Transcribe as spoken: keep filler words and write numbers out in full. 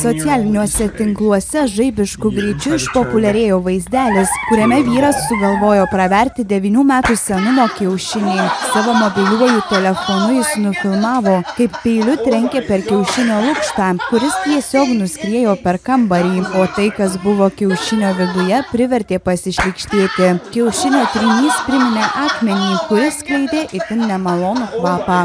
Socialiniuose tinkluose žaibiškų greičių išpopuliarėjo vaizdelis, kuriame vyras sugalvojo praverti devynių metų senumo kiaušinį. Savo mobiliuoju telefonu jis nufilmavo, kaip peiliu trenkė per kiaušinio lukštą, kuris tiesiog nuskriejo per kambarį, o tai, kas buvo kiaušinio viduje, privertė pasišlykštėti. Kiaušinio trynys priminė akmenį, kuris skleidė itin nemalonų kvapą.